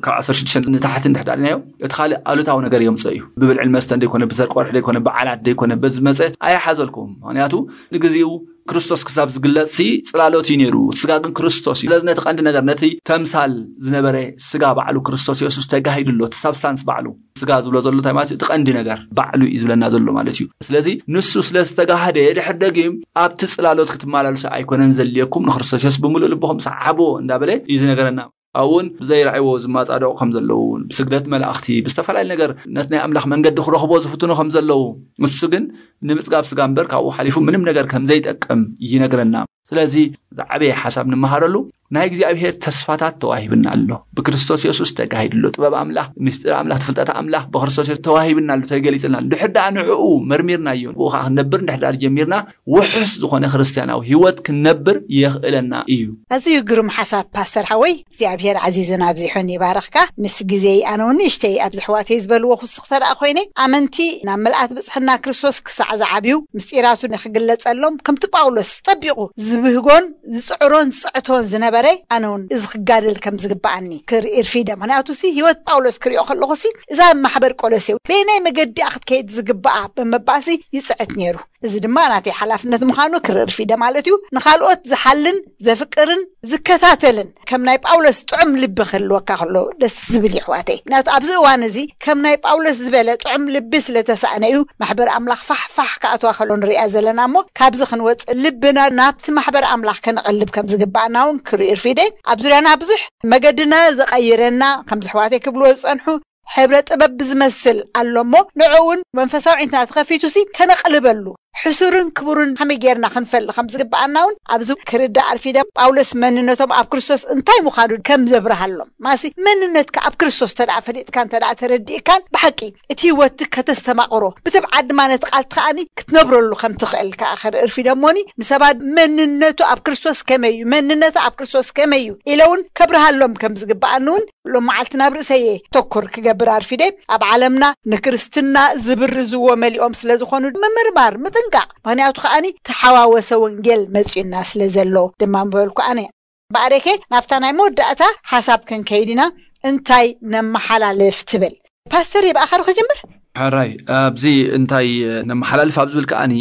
ካብ ዓሰርተ ሽዱሽተ ንታሕቲ እንድሕር ዳሪናዮ፣ እቲ ካልእ ኣሉታዊ ነገር የምጽኦ እዩ። ብብልዕን መስተን ደይኮነ፣ ብሰርቂ ወርሒ ደይኮነ፣ በዓላት ደይኮነ፣ በዚ መጸ ኣይሓዘልኩም። ምኽንያቱ ንግዜኡ ክርስቶስ ክሳብ ዝግለጽ ሲ ጽላሎት እዩ ነይሩ፣ ስጋ ግን ክርስቶስ እዩ። ስለዚ ነቲ ቀንዲ ነገር፣ ነቲ ተምሳል ዝነበረ ስጋ ባዕሉ ክርስቶስ የሱስ ተጋሂዱ ኣሎ። እቲ ሳብስታንስ ባዕሉ፣ ስጋ ዝብሎ ዘሎ እንታይ ማለት እዩ? እቲ ቀንዲ ነገር ባዕሉ እዩ ዝብለና ዘሎ ማለት እዩ። ስለዚ ንሱ ስለ ዝተጋህደ፣ ድሕር ደጊም ኣብቲ ጽላሎት ክትመላለሱ ኣይኮነን ዘድልየኩም፣ ንክርስቶስ የሱስ ብምሉእ ልብኹም ሰዓብዎ እንዳበለ እዩ ዝነገረና። ኣብኡ እውን ብዘይረኣይዎ ዝመጻደቑ ከም ዘለዉ፣ ብስግደት መላእኽቲ፣ ብዝተፈላለየ ነገር ነቲ ናይ ኣምላኽ መንገዲ ክረኽቦ ዝፍትኑ ከም ዘለዉ፣ ንሱ ግን ንምጽጋብ ስጋ እምበር ካብኡ ሓሊፉ ምንም ነገር ከም ዘይጠቅም ይነግረና። ስለዚ ዝዓበየ ሓሳብ ንመሃረሉ፣ ናይ እግዚኣብሔር ተስፋታት ተዋሂብና ኣሎ። ብክርስቶስ የሱስ ተጋሂዱ ኣሎ። ጥበብ ኣምላኽ፣ ምስጢር ኣምላኽ፣ ፍልጠት ኣምላኽ ብክርስቶስ የሱስ ተዋሂብና ኣሎ፣ ተገሊጽልና ኣሎ። ድሕር ደኣ ንዕኡ መርሚርናዮ፣ ብኡ ኸዓ ክንነብር እንድሕር ደኣ ጀሚርና፣ ውሑስ ዝኾነ ክርስትያናዊ ህይወት ክንነብር የኽእለና እዩ። ኣዝዩ ግሩም ሓሳብ ፓስተር ሓወይ፣ እግዚኣብሔር ዓዚዙን ኣብዚሑን ይባርኽካ። ምስ ግዜይ ኣነ እውን ንእሽተይ ኣብዚ ኣሕዋተይ ዝበልዎ ክውስኽ ተደኣ ኮይነ፣ ኣመንቲ ናብ ምልኣት ብጽሕና ክርስቶስ ክሳዕ ዝዓብዩ፣ ምስጢራቱ ንኽግለጸሎም ከምቲ ጳውሎስ ጸቢቑ ዝብህጎን ዝጽዕሮን ዝጽዕቶን ዝነበረ፣ ኣነ እውን እዚ ክጋደል ከም ዝግብኣኒ ክርኢ ርፊደ። ምኽንያቱሲ ህይወት ጳውሎስ ክሪኦ ከለኹሲ እዛ ማሕበር ቆሎሴ በየናይ መገዲ እያ ክትከይድ ዝግብኣ ብምባልሲ ይጽዕት ነይሩ። እዚ ድማ ናተይ ሓላፍነት ምዃኑ ክርኢ ርፊደ ማለት እዩ። ንኻልኦት ዝሓልን ዘፍቅርን ዝከታተልን ከም ናይ ጳውሎስ ጥዑም ልቢ ክህልወካ ከሎ ደስ ዝብል ይሕዋተይ። ምክንያቱ ኣብዚ እዋን እዚ ከም ናይ ጳውሎስ ዝበለ ጥዑም ልቢ ስለተሳእነ እዩ ማሕበር ኣምላኽ ፋሕፋሕ ክኣትዋ ከሎ ንሪኣ ዘለና። እሞ ካብዚ ክንወፅእ ልብና ናብቲ ማሕበር ኣምላኽ ከነቐልብ ከም ዝግባኣና እውን ክርኢ እርፊደ። ኣብ ዙርያና ብዙሕ መገድና ዘቐይረና ከምዚ ኣሕዋተይ ክብልዎ ዝፀንሑ ሕብረ ጥበብ ብዝመስል ኣሎ እሞ ንዕኡ እውን መንፈሳዊ ዒንትና ተኸፊቱ ሲ ከነቕልበሉ ሕሱርን ክቡርን ከመይ ጌርና ክንፈሊ ከም ዝግባኣና እውን ኣብዚ ክርዳእ ኣርፊደ። ጳውሎስ መንነቶም ኣብ ክርስቶስ እንታይ ምዃኑ ከም ዘብርሃሎም ማሲ መንነትካ ኣብ ክርስቶስ ተደኣ ፈሊጥካ እንተ ደኣ ተረዲእካን ብሓቂ እቲ ህይወት ከተስተማቕሮ ብትብዓት ድማ ነቲ ቃልቲ ከኣኒ ክትነብረሉ ከም ትኽእል ከኣ ክርኢ እርፊደ። እሞኒ ንሰባት መንነቱ ኣብ ክርስቶስ ከመይ እዩ መንነቱ ኣብ ክርስቶስ ከመይ እዩ ኢለ እውን ከብርሃሎም ከም ዝግባኣኒ እውን ሎም መዓልቲ ናብ ርእሰየ ተኩር ክገብር ኣርፊደ። ኣብ ዓለምና ንክርስትና ዝብርዝዎ መሊኦም ስለ ዝኾኑ ምምርማር ምጥንቃቕ። ምክንያቱ ከኣኒ ተሓዋወሰ ወንጌል መጺኡና ስለ ዘሎ ድማ ምበልኩ ኣነ። ባዕደኬ ናብታ ናይ መወዳእታ ሓሳብ ክንከይድ ኢና። እንታይ ነመሓላልፍ ትብል? ፓስተር ይብኣኸር ክጅምር። ሕራይ ኣብዚ እንታይ ነመሓላልፍ ኣብ ዝብል ከኣኒ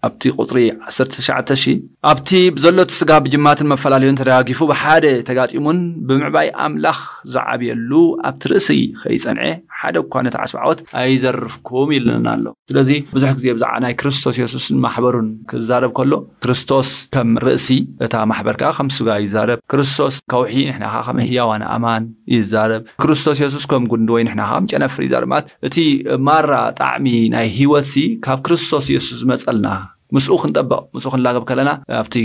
ኣብቲ ቁፅሪ ዓሰርተ ትሽዓተ ሺ ኣብቲ ብዘሎ እቲ ስጋ ብጅማትን መፈላለዮን ተደጋጊፉ ብሓደ ተጋጢሙን ብምዕባይ ኣምላኽ ዝዓብየሉ ኣብቲ ርእሲ ከይጸንዐ ሓደ እኳ ነቲ ዓስቢ ዓወት ኣይዘርፍኩም ይብለና ኣሎ። ስለዚ ብዙሕ ግዜ ብዛዕባ ናይ ክርስቶስ የሱስን ማሕበሩን ክዛረብ ከሎ ክርስቶስ ከም ርእሲ እታ ማሕበር ከዓ ከም ስጋ ይዛረብ። ክርስቶስ ከውሒ ንሕና ከዓ ከም ህያዋን ኣእማን ይዛረብ። ክርስቶስ የሱስ ከም ጉንዲ ወይ ንሕና ከዓ ጨነፍር ይዛረብ። ማለት እቲ ማራ ጣዕሚ ናይ ህይወት ሲ ካብ ክርስቶስ የሱስ ዝመፀልና ምስኡ ክንጠበቕ ምስኡ ክንላገብ ከለና ኣብቲ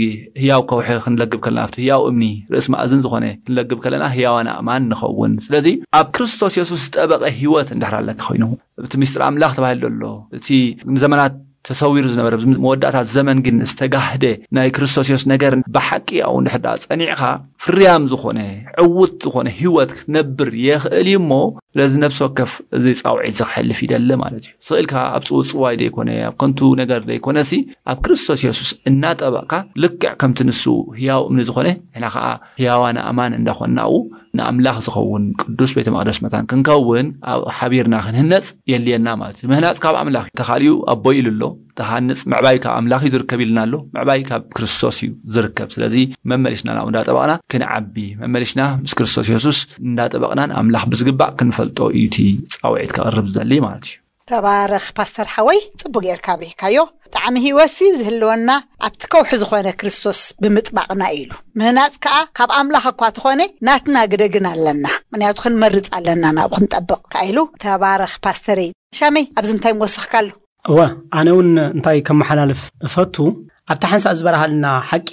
ህያው ከውሒ ክንለግብ ከለና ኣብቲ ህያው እምኒ ርእስ ማእዝን ዝኾነ ክንለግብ ከለና ህያዋን ኣእማን ንኸውን። ስለዚ ኣብ ክርስቶስ የሱስ ዝጠበቐ ህይወት እንድሕር ኣለካ ኮይኑ እቲ ምስጢር ኣምላኽ ተባሂሉ ዘሎ እቲ ንዘመናት ተሰዊሩ ዝነበረ ኣብዚ መወዳእታ ዘመን ግን ዝተጋህደ ናይ ክርስቶስ የሱስ ነገር ብሓቂ ኣብኡ እንድሕር ደኣ ጸኒዕኻ ፍርያም ዝኾነ ዕውት ዝኾነ ህይወት ክትነብር የኽእል እዩ። እሞ ስለዚ ነብሲ ወከፍ እዚ ጻውዒት እዚ ክሕልፍ ይደሊ ማለት እዩ። ስቕ ኢልካ ኣብ ጽውጽዋይ ዘይኮነ ኣብ ከንቱ ነገር ዘይኮነሲ ኣብ ክርስቶስ የሱስ እናጠበቕካ ልክዕ ከምቲ ንሱ ህያው እምኒ ዝኾነ ንሕና ኸዓ ህያዋን ኣእማን እንዳኾንና ኣብኡ ንኣምላኽ ዝኸውን ቅዱስ ቤተ መቕደስ መታን ክንከውን ኣብ ሓቢርና ክንህነጽ የድልየና ማለት እዩ። ምህናጽ ካብ ኣምላኽ እዩ። ተኻሊኡ ኣቦይ ኢሉ ኣሎ። ተሃንጽ ምዕባይ ካብ ኣምላኽ እዩ ዝርከብ ኢልና ኣሎ። ምዕባይ ካብ ክርስቶስ እዩ ዝርከብ። ስለዚ መመሊስና ናብኡ እንዳጠበቕና ክንዓቢ መመሊስና ምስ ክርስቶስ የሱስ እንዳጠበቕናን ኣምላኽ ብዝግባእ ክንፈልጦ እዩ እቲ ጻውዒት ከቕርብ ዝደሊ ማለት እዩ። ተባረኽ ፓስተር ሓወይ፣ ጽቡቅ ጌርካ ኣብሪህካዮ። ጣዕሚ ህይወትሲ ዝህልወና ኣብቲ ከውሒ ዝኾነ ክርስቶስ ብምጥባቕና እዩ ኢሉ። ምህናጽ ከኣ ካብ ኣምላኽ እኳ ተኾነ ናትና ግደ ግን ኣለና፣ ምኽንያቱ ክንመርጽ ኣለና ናብኡ ክንጠብቕ ከኣ ኢሉ። ተባረኽ ፓስተረይ። ሻመይ ኣብዚ እንታይ ምወሰኽካ ኣሎ? እወ፣ ኣነ እውን እንታይ ከመሓላልፍ እፈቱ፣ ኣብቲ ሓንሳእ ዝበርሃልና ሓቂ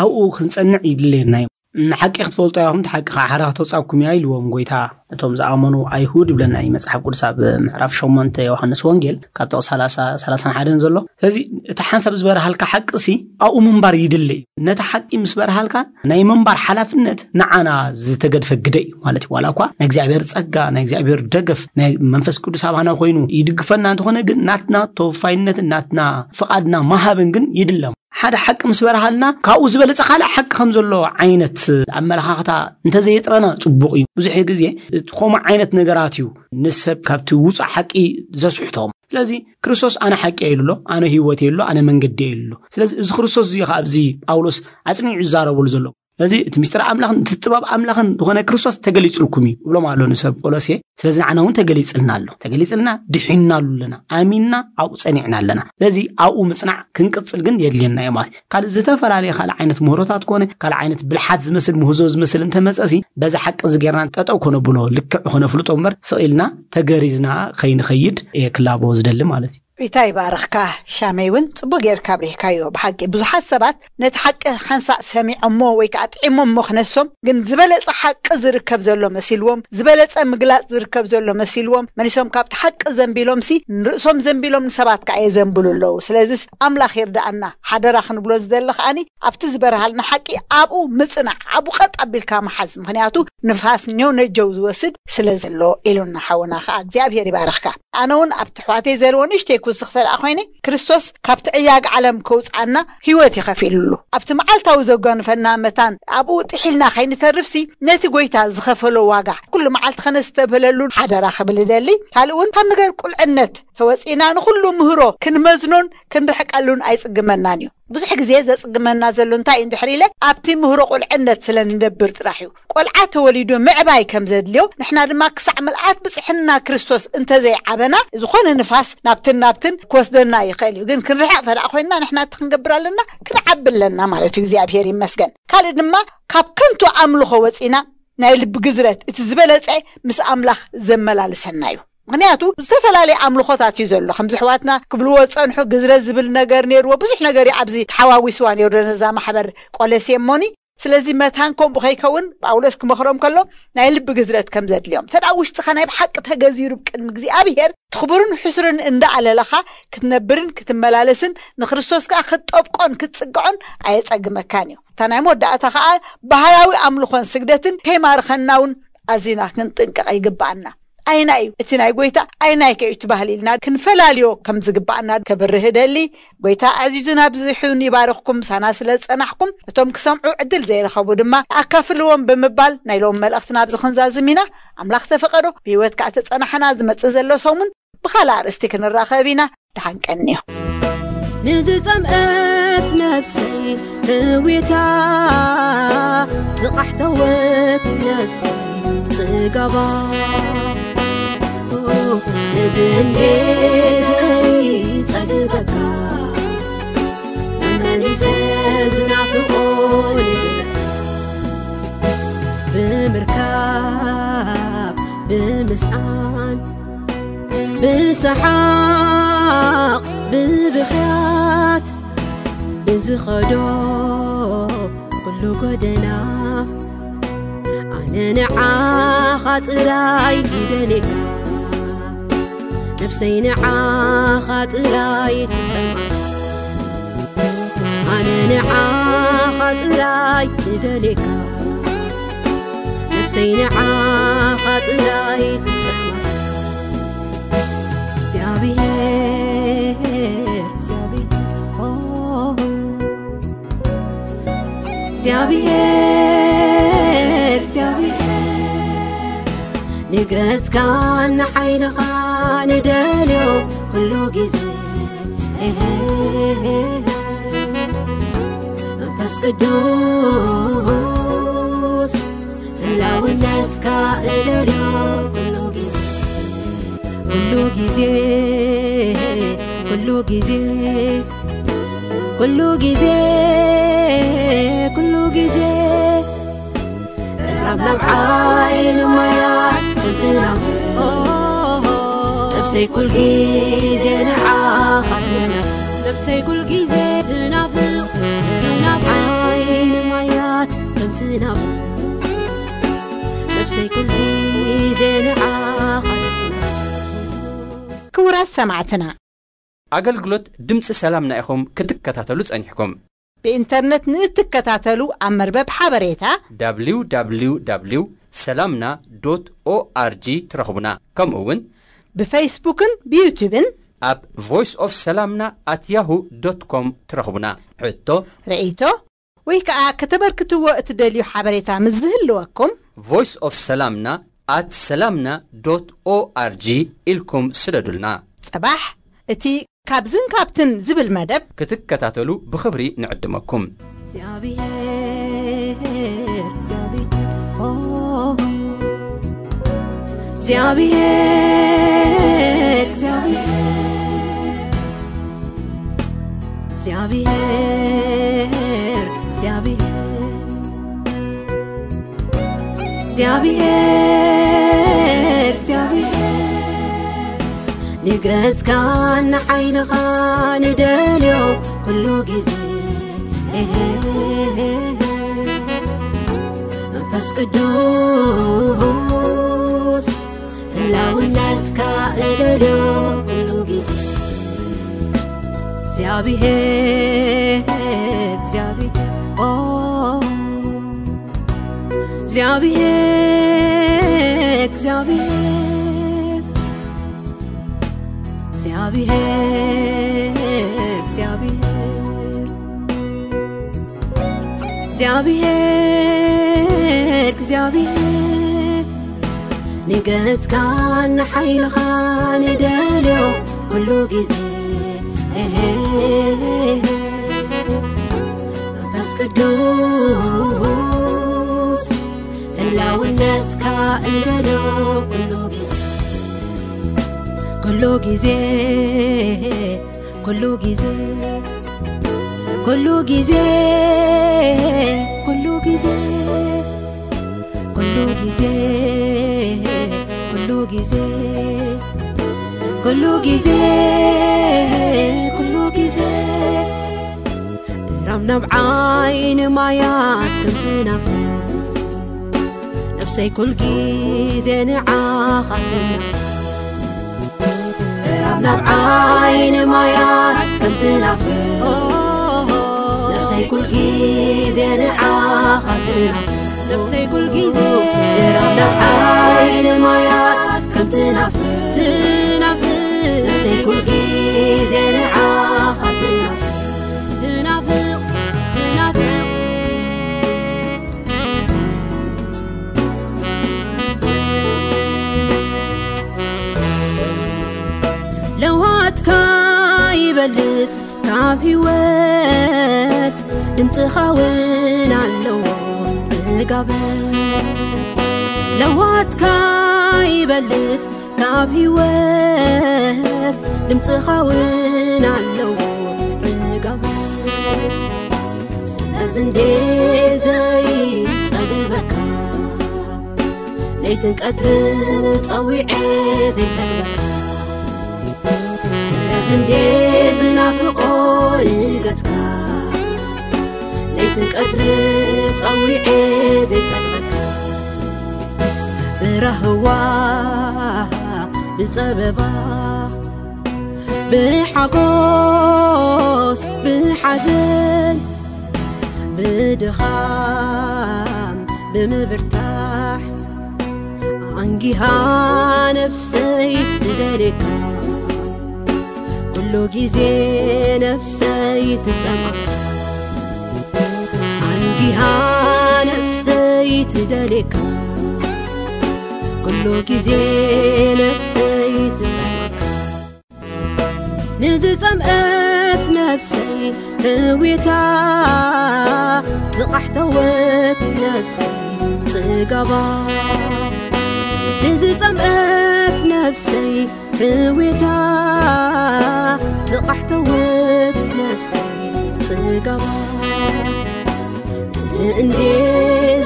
ኣብኡ ክንጸንዕ ይድለየና እዩ። ንሓቂ ክትፈልጡ ኢኹም፣ እቲ ሓቂ ከዓ ሓራ ከተውጻኩም እያ ኢልዎም ጎይታ እቶም ዝኣመኑ ኣይሁድ ይብለና እዩ መጽሓፍ ቅዱስ ኣብ ምዕራፍ ሸሞንተ ዮሃንስ ወንጌል ካብ ጥቕሲ ሰላሳ፣ ሰላሳን ሓደን ዘሎ። ስለዚ እቲ ሓንሳብ ዝበርሃልካ ሓቂ ሲ ኣብኡ ምንባር ይድለ እዩ። ነቲ ሓቂ ምስ በርሃልካ ናይ ምንባር ሓላፍነት ንዓና ዝተገድፈ ግደ እዩ ማለት እዩ። ዋላ እኳ ናይ እግዚኣብሔር ጸጋ፣ ናይ እግዚኣብሔር ደገፍ፣ ናይ መንፈስ ቅዱስ ኣባና ኮይኑ ይድግፈና እንተኾነ ግን ናትና ተወፋይነትን ናትና ፍቓድና መሃብን ግን ይድለም። ሓደ ሓቂ ምስ በርሃልና ካብኡ ዝበለጸ ካልእ ሓቂ ከም ዘሎ ዓይነት ኣመለኻኽታ እንተዘየጥረና ጽቡቕ እዩ። ብዙሕ ግዜ እቲ ከምኡ ዓይነት ነገራት እዩ ንሰብ ካብቲ ውጹእ ሓቂ ዘስሕቶም። ስለዚ ክርስቶስ ኣነ ሓቂ እየ ኢሉ ኣሎ፣ ኣነ ህይወት እየ ኢሉ ኣሎ፣ ኣነ መንገዲ እየ ኢሉ ኣሎ። ስለዚ እዚ ክርስቶስ እዚ ኸዓ ኣብዚ ጳውሎስ ኣጽኒዑ ዝዛረበሉ ዘሎ። ስለዚ እቲ ምስጢር ኣምላኽን እቲ ጥበብ ኣምላኽን ዝኾነ ክርስቶስ ተገሊጹልኩም እዩ እብሎም ኣሎ ንሰብ ቆሎሴ። ስለዚ ንዓና እውን ተገሊጽልና ኣሎ። ተገሊጽልና ድሒንናሉ ኣለና። ኣሚንና ኣብኡ ጸኒዕና ኣለና። ስለዚ ኣብኡ ምጽናዕ ክንቅጽል ግን የድልየና እዩ ማለት እዩ። ካልእ ዝተፈላለየ ካልእ ዓይነት ምህሮታት ኮነ ካልእ ዓይነት ብልሓት ዝመስል ምህዞ ዝመስል እንተመጸሲ በዚ ሓቂ እዚ ጌርና ጠጠው ከነብሎ ልክዕ ከነፍልጦ እምበር ስቕ ኢልና ተገሪዝና ከይንኸይድ እየ ክላቦ ዝደሊ ማለት እዩ። ጌታ ይባርኽካ ሻመይ እውን ጽቡቅ ጌርካ ኣብሪህካዮ። ብሓቂ ብዙሓት ሰባት ነቲ ሓቂ ሓንሳእ ሰሚዖሞ ወይ ከዓ ጥዒሞሞ ክነሶም ግን ዝበለጸ ሓቂ ዝርከብ ዘሎ መሲልዎም ዝበለጸ ምግላጽ ዝርከብ ዘሎ መሲልዎም መኒሶም ካብቲ ሓቂ ዘንቢሎም ሲ ንርእሶም ዘንቢሎም ንሰባት ከዓ የዘንብሉ ኣለዉ። ስለዚስ ኣምላኽ ይርዳኣና። ሓደራ ክንብሎ ዝደሊ ከዓኒ ኣብቲ ዝበርሃልና ሓቂ ኣብኡ ምጽናዕ ኣብኡ ቀጥ ኣቢልካ መሓዝ። ምኽንያቱ ንፋስ ኔው ነጀው ዝወስድ ስለ ዘሎ ኢሉና ሓውና ከዓ እግዚኣብሔር ይባርኽካ። ኣነ እውን ኣብቲ ኣሕዋተይ ዘለዎ ንእሽተይ ክውስኽ ተደኣ ኮይነ ክርስቶስ ካብቲ ዕያግ ዓለም ከውፅኣና ህይወት እዩ ከፊሉሉ። ኣብቲ መዓልታዊ ዘጓንፈና መታን ኣብኡ ጥሒልና ከይንተርፍሲ ነቲ ጎይታ ዝኸፈሎ ዋጋ ኩሉ መዓልቲ ከነስተብህለሉ ሓደራ ክብል እደሊ። ካልእ እውን ካብ ነገር ቁልዕነት ተወጺእና ንኹሉ ምህሮ ክንመዝኖን ክንርሕቀሉን ኣይጽግመናን እዩ። ብዙሕ ግዜ ዘጽግመና ዘሎ እንታይ እዩ እንድሕር ኢለ፣ ኣብቲ ምህሮ ቁልዕነት ስለ ንነብር ጥራሕ እዩ። ቆልዓ ተወሊዱ ምዕባይ ከም ዘድልዮ፣ ንሕና ድማ ክሳዕ ምልኣት ብጽሕና ክርስቶስ እንተዘይዓበና፣ ዝኾነ ንፋስ ናብትን ናብትን ክወስደና ይኽእል እዩ። ግን ክንርሕቕ እንተ ደኣ ኮይንና፣ ንሕና እቲ ክንገብር ኣለና፣ ክንዓቢ ኣለና ማለት እዩ። እግዚኣብሔር ይመስገን። ካልእ ድማ ካብ ከንቱ ኣምልኾ ወጺና ናይ ልቢ ግዝረት እቲ ዝበለጸ ምስ ኣምላኽ ዘመላልሰና እዩ። ምኽንያቱ ዝተፈላለየ ኣምልኾታት እዩ ዘሎ። ከምዚ ኣሕዋትና ክብልዎ ዝጸንሑ ግዝረት ዝብል ነገር ነይርዎ። ብዙሕ ነገር እዩ ኣብዚ ተሓዋዊስዋ ነይሩ ነዛ ማሕበር ቆለሴ እሞኒ። ስለዚ መታን ከምኡ ከይከውን ጳውሎስ ክመኽሮም ከሎ ናይ ልቢ ግዝረት ከም ዘድልዮም። ተዳ ውሽጥኻ ናይ ብሓቂ ተገዚሩ ቅድሚ እግዚኣብሔር ትኽቡርን ሕሱርን እንዳኣለለኻ ክትነብርን ክትመላለስን ንክርስቶስ ከኣ ክትጠብቆን ክትጽግዖን ኣየጸግመካን እዩ። እታ ናይ መወዳእታ ከኣ ባህላዊ ኣምልኾን ስግደትን ከይማርኸና እውን ኣዚና ክንጥንቀቕ ይግብኣና። ኣይና እዩ እቲ ናይ ጎይታ፣ ኣይናይ ከ እዩ እቲ ባህሊ ኢልና ክንፈላልዮ ከም ዝግብኣና ከብርህ እደሊ። ጎይታ ኣዕዚዙን ኣብዚሑን ይባርኽኩም። ምሳና ስለ ዝጸናሕኩም፣ እቶም ክሰምዑ ዕድል ዘይረኸቡ ድማ ኣካፍልዎም ብምባል ናይ ሎም መልእኽትና ኣብዚ ክንዛዝም ኢና። ኣምላኽ ተፈቐዶ ብህይወት ከኣ ተጸናሕና ዝመጽእ ዘሎ ሰሙን ብኻልእ ኣርእስቲ ክንራኸብ ኢና። ደሓን ቀንዮ። ንዝጸምአት ነፍሰይ ህዊታ፣ ዝቓሕተወት ነፍሰይ ጽጋባ፣ ነዚ እንዴ ዘይጸግበካ፣ መመሊሰ ዝናፍቆ ልብስ ብምርካብ ብምስኣን ብሰሓቕ ብብኽያት ብዝኸዶ ኩሉ ጎደና ኣነ ንዓኻ ጥራይ ይደልየካ፣ ነፍሰይ ንዓኻ ጥራይ ትጸምኣ። ኣነ ንዓኻ ጥራይ ትደልየካ፣ ነፍሰይ ንዓኻ ጥራይ ትጸማ። እግዚኣብሔር፣ እግዚኣብሔር፣ ኦ፣ እግዚኣብሔር፣ እግዚኣብሔር፣ ንገጽካ ንሓይልኻ ንደልዮ ኩሉ ግዜ። መንፈስ ቅዱስ ህላውነትካ እደልዮ ኩሉ ግዜ፣ ኩሉ ግዜ፣ ኩሉ ግዜ፣ ኩሉ ግዜ፣ ኩሉ ግዜ። እራብ ናብ ዓይኒ ማያት ትዝናፍ፣ ነፍሰይ ኩል ግዜ ንዓኻ ትናፍ፣ ነፍሰይ ኩል ግዜ ትናፍቕ፣ ትናፍ ዓይኒ ማያት ከም ትናፍቕ፣ ነፍሰይ ኩል ግዜ ንዓኻ ትናፍቕ። ክቡራት ሰማዕትና፣ ኣገልግሎት ድምፂ ሰላምና ኢኹም ክትከታተሉ ጸኒሕኩም። ብኢንተርነት ንእትከታተሉ ኣብ መርበብ ሓበሬታ www ሰላምና ዶት ኦኣርጂ ትረኽቡና። ከምኡ እውን ብፌስቡክን ብዩቱብን ኣብ ቮይስ ኦፍ ሰላምና ኣት ያሁ ዶት ኮም ትረኽቡና። ሕቶ፣ ርእይቶ ወይ ከኣ ከተበርክትዎ እትደልዩ ሓበሬታ ምስ ዝህልወኩም ቮይስ ኦፍ ሰላምና ኣት ሰላምና ዶት ኦኣርጂ ኢልኩም ስደዱልና። ጽባሕ እቲ ካብዝን ካብትን ዝብል መደብ ክትከታተሉ ብኽብሪ ንዕድመኩም። እግዚኣብሔር፣ እግዚኣብሔር፣ ኦ፣ እግዚኣብሔር፣ እግዚኣብሔር፣ እግዚኣብሔር፣ እግዚኣብሔር፣ እግዚኣብሔር፣ እግዚኣብሔር፣ ንገጽካን ንሓይልኻን ንደልዮ ኩሉ ግዜ። መንፈስ ቅዱስ ህላውነትካ እደልዮ ኩሉ ግዜ። እግዚኣብሔር፣ እግዚኣብሔር፣ ኦ፣ እግዚኣብሔር፣ እግዚኣብሔር፣ እግዚኣብሔር፣ እግዚኣብሔር፣ እግዚኣብሔር፣ እግዚኣብሔር፣ ንገጽካን ንሓይልኻን እደልዮ ኩሉ ግዜ። መንፈስ ቅዱስ ህላውነትካ እደሎ። ኩሉ ግዜ፣ ኩሉ ግዜ፣ ኩሉ ግዜ፣ ኩሉ ግዜ፣ ኩሉ ግዜ፣ ኩሉ ግዜ፣ ኩሉ ግዜ፣ ኩሉ ግዜ፣ ኩሉ ግዜ። ራም ናብ ዓይኒ ማያት ከም ትናፍቕ፣ ነፍሰይ ኩል ግዜ ንዓኻ ትናፍቕ። ራም ናብ ዓይኒ ማያት ከም ትናፍቕ፣ ነፍሰይ ኩል ግዜ ንዓኻ ትናፍቕ። ነፍሰይ ኩል ግዜ ራም ናብ ዓይኒ ማያት ከም ትናፍቕ፣ ትናፍቕ። ነፍሰይ ኩል ግዜ ንዓኻ ትናፍቕ፣ ትናፍቕ፣ ትናፍቕ። ለውሃትካ ይበልጽ ካብ ህይወት፣ ድምጽኻ እውን ኣለዎ ዕጋበት። ለውሃትካ ይበልጽ ካብ ህይወት፣ ድምጽኻ እውን ኣለዎ ዕጋበት። ስለዚ እንዴ ዘይጸግበካ፣ ለይትን ቀትርን ጸዊዐ ዘይጸግበካ። ስለዚ እንዴ ዝናፍቆ ንገጽካ፣ ለይትን ቀትርን ጸዊዐ ዘይጸግበካ። ብራህዋ ብጸበባ ብሓጎስ ብሓዘን ብድኻም ብምብርታሕ ኣንጊሃ ነፍሰይ ትደልየካ። ኩሉ ግዜ ነፍሰይ ትጸምኣ፣ ኣንጊሃ ነፍሰይ ትደልየካ። ኩሉ ግዜ ነፍሰይ ትጸምኣ። ንዝጸምአት ነፍሰይ ህዊታ፣ ዝቓሕተወት ነፍሰይ ጽጋባ። ንዝጸምአት ነፍሰይ ህዊታ፣ ዝቓሕተወት ነፍሰይ ጽጋባ። እዚ እንዴ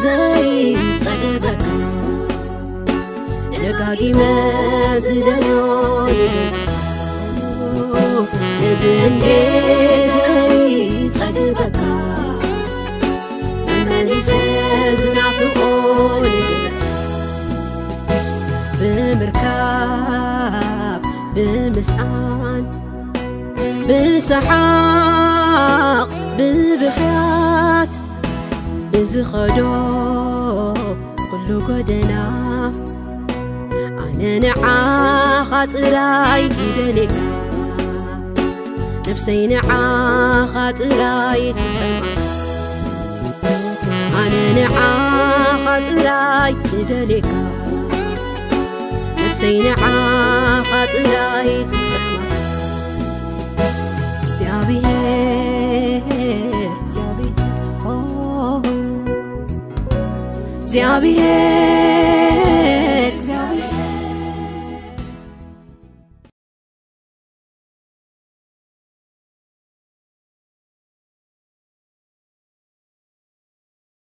ዘይጸግበካ፣ ደጋጊመ ዝደልዮ ንገጽ። እዚ እንዴ ዘይጸግበካ፣ መመሊሰ ዝናፍቆ ንገጽ። ብምርካብ ብምስኣን፣ ብሰሓቕ ብብኽያት ብዝኸዶ ኩሉ ጎደና፣ ኣነ ንዓኻ ጥራይ ይደልየካ፣ ነፍሰይ ንዓኻ ጥራይ ትጸምኣ። ኣነ ንዓኻ ጥራይ ይደልየካ፣ ነፍሰይ ንዓኻ ጥራይ ትጸምኣ። እግዚኣብሔር፣ እግዚኣብሔር፣ ኦ፣ እግዚኣብሔር